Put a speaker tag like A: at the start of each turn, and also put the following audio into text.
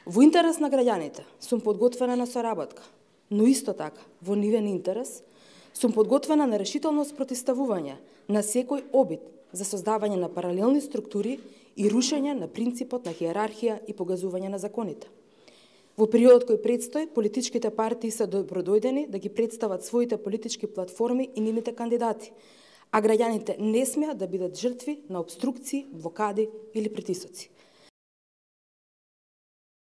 A: Во интерес на граѓаните сум подготвена на соработка, но исто така во нивен интерес сум подготвена на решително спротивставување на секој обид за создавање на паралелни структури и рушење на принципот на хиерархија и погазување на законите. Во периодот кој предстои, политичките партии се добродојдени да ги представат своите политички платформи и нивните кандидати, а граѓаните не смеат да бидат жртви на обструкции, блокади или притисоци.